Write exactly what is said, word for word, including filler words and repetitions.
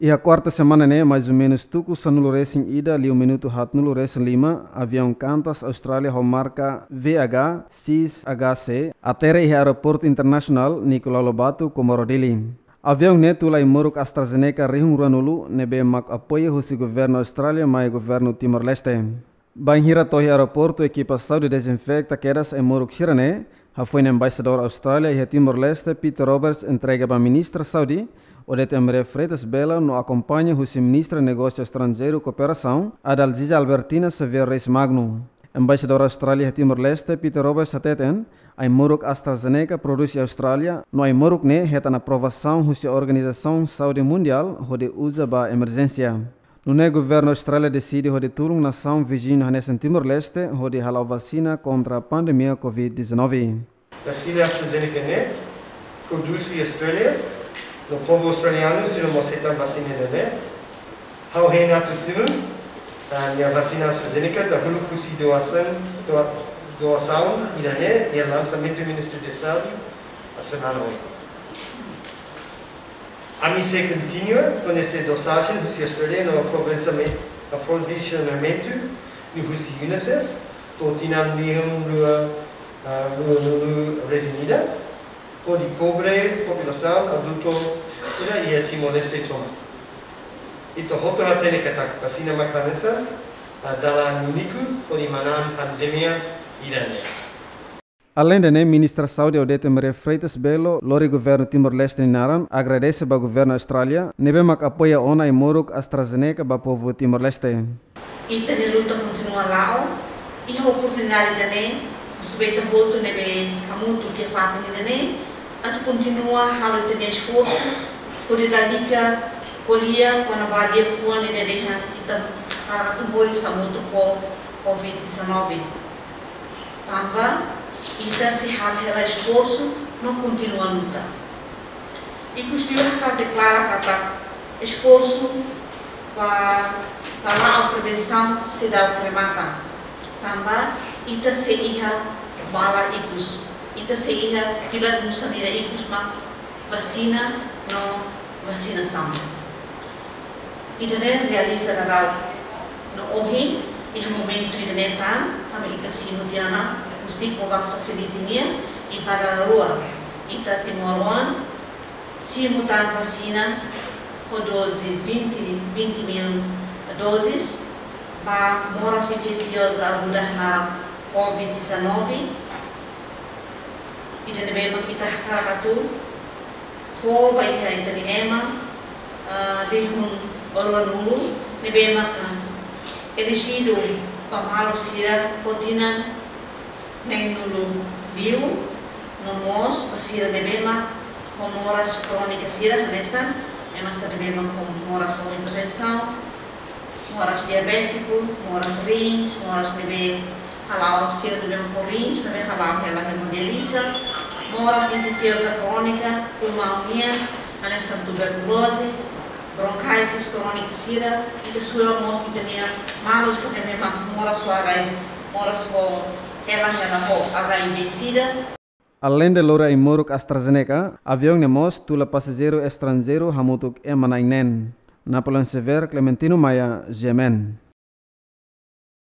Iha kuarta semana ne'e, mais ou menus tuku sanulu resin ida liu minutu haatnulu resin lima, aviaun Qantas Austrália ho marka V H six H C atere iha Aeroportu Internasionál Nicolau Lobato, Comoro Dili. Aviaun ne'e tula ai-moruk AstraZeneca rihun ruanulu ne'ebé mak apoiu husi governu Austrália mai governu Timor-Leste. Bainhira to'o iha aeroportu, ekipa saúde dezinfeta kedas ai-moruk sira-ne'e, hafoin embaixadór Austrália iha Timor-Leste, Peter Roberts, entrega ba Ministra Saúde, Odete Amélia Freitas Belo, no akompaña husi Ministra Negósiu Estranjeiru Kooperasaun, Adalgisa Albertina Xavier Reis Magno. Embaixadór Austrália iha Timor-Leste, Peter Roberts, hateten, ai-moruk AstraZeneca prodús iha Austrália, no ai-moruk ne'e hetan aprovasaun husi Organizasaun Saúde Mundiál hodi uza ba emerjénsia. Nune'e governu Austrália deside hodi tulun nasaun viziñu hanesan Timor-Leste hodi hala'o vasina kontra pandemia covid dezanove. Vasina AstraZeneca ne'e prodús iha Austrália, no povu australianu sira mós hetan vasina ida-ne'e. Ha'u hein atu simu, ah, nia vasina AstraZeneca dahuluk husi doasaun, doa-, doasaun ida-ne'e iha lansamentu Ministra de Saúde, semana oin. Ami sei kontinua fornese dosajen husi Austrália no aprovisioname-, aprovisionamentu no husi UNICEF to'o tinan rihun rua, ah, ruanulu resin ida, hodi kobre populasaun adultu sira iha Timor-Leste tomak. Ita hotu hatene katak vasina mak hanesan, ah, dalan úniku hodi manán pandemia ida-ne'e. Aleinde ne'e, Ministra Saúde Odete Amélia Freitas Belo lori governu Timor-Leste nia naran agradese ba governu Austrália ne'ebé mak apoia ona ai-moruk AstraZeneca ba povu Timor-Leste. Ita-nia luta kontinua la'o, iha oportunidade ida-ne'e, husu ba ita hotu ne'ebé hamutuk iha fatin ida-ne'e, atu kontinua halo ita-nia esforsu, hodi lalika ko'alia kona-ba liafuan ida dehan ita hakarak atu moris hamutuk ho covid dezanove. Tanba ita sei halo hela esforsu no kontinua luta. Ikusliu hakarak deklara katak esforsu ba, ba la'o prevensaun seidauk remata. Tanba ita sei iha bala ikus, ita sei iha pilar nu'usá ida ikus mak vasina no vasinasaun. Ida-ne'e realiza daudaun. No ohin, iha momentu ida-ne'e tan, ami ita simu tiha ona husi COVAX facility nian, i ba dala rua, ita timoroan simu tan vasina ho doze, vinte, vinte mil doses, ba moras infesioza aguda naran covid dezanove, ida ne'ebé mak ita hakarak atu fó ba iha ita-nia ema, ah, rihun ruanulu ne'ebé maka elejidu ba maluk sira ho tinan neenulu liu, no mós ba sira ne'ebé mak ho moras krónika sira hanesan ema sira ne'ebé mak ho moras ho hipertensaun, moras diabétiku, moras rins, moras ne'ebé hala'o sira ne'ebé ho rins, ne'ebé hala'o hela hemodiálise, moras infesioza krónika, pulmaun nian, hanesan tuberkuloze, bronkitis krónika sira, ita sura mós ita-nia maluk sira ne'ebé mak moras ho H I V, moras ho hela hela ho H I V sida. Aleinde lori ai-moruk AstraZeneca, aviaun ne'e mós tula pasajeiru estranjeiru hamutuk ema na'in neen. Napoleão Xavier, Clementino Maia, G M N.